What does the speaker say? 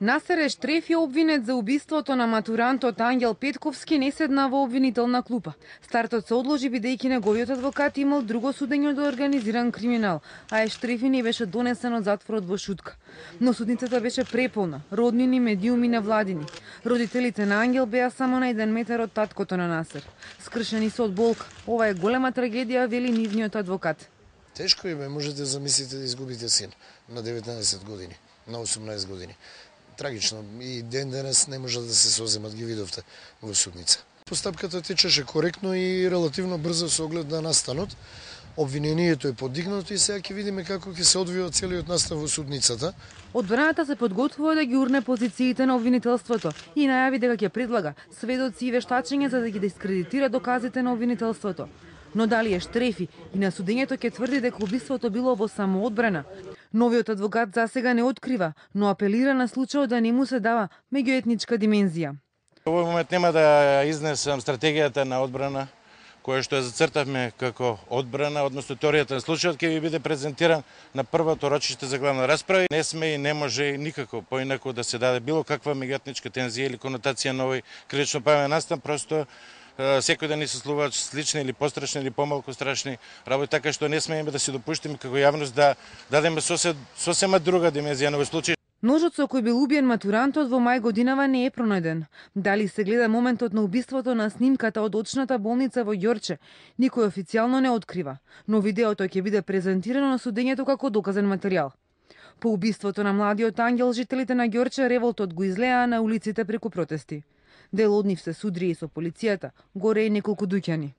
Насер Ештрефи, обвинет за убиството на матурантот Ангел Петковски, не седна во обвинителна клупа. Стартот се одложи бидејќи неговиот адвокат имал друго судење од организиран криминал, а Ештрефи не беше донесен од затворот во Шутка. Но судницата беше преполна, роднини, медиуми, невладини. Родителите на Ангел беа само на 1 метар од таткото на Насер. Скршени се од болка. Ова е голема трагедија, вели нивниот адвокат. Тешко е, можете да замислите да изгубите син на 19 години, на 18 години. Трагично, и ден денес не може да се соземат, ги видовте во судница. Постапката течеше коректно и релативно брзо со оглед на настанот. Обвинението е подигнато и сега ќе видиме како ќе се одвива целиот настан во судницата. Одбраната се подготвува да ги урне позициите на обвинителството и најави дека ќе предлага сведоци и вештачење за да ги дискредитира доказите на обвинителството. Но дали Ештрефи и на судењето ќе тврди дека убиството било во самоодбрана? Новиот адвокат засега не открива, но апелира на случајот да не му се дава меѓуетничка димензија. Во овој момент нема да изнесам стратегијата на одбрана, која што ја зацртавме како одбрана, односно теоријата на случајот ќе ви биде презентиран на првото рочиште за главна расправа. Не сме и не може никако поинаку да се даде било каква меѓуетничка тензија или конотација на овој критично правен настан, просто секој да ни се слуваат слични или пострашни или помалку страшни работи, така што не смееме да се допуштиме како јавност да дадеме сосема друга димензија на овој случај. Ножот со кој бил убиен матурантот во мај годинава не е пронајден. Дали се гледа моментот на убиството на снимката од очната болница во Ѓорче, никој официјално не открива, но видеото ќе биде презентирано на судењето како доказен материјал. По убиството на младиот Ангел, жителите на Ѓорче револтот го излеа на улиците преку протести. Дел од нив се судри и со полицијата, горе и неколку дуќани.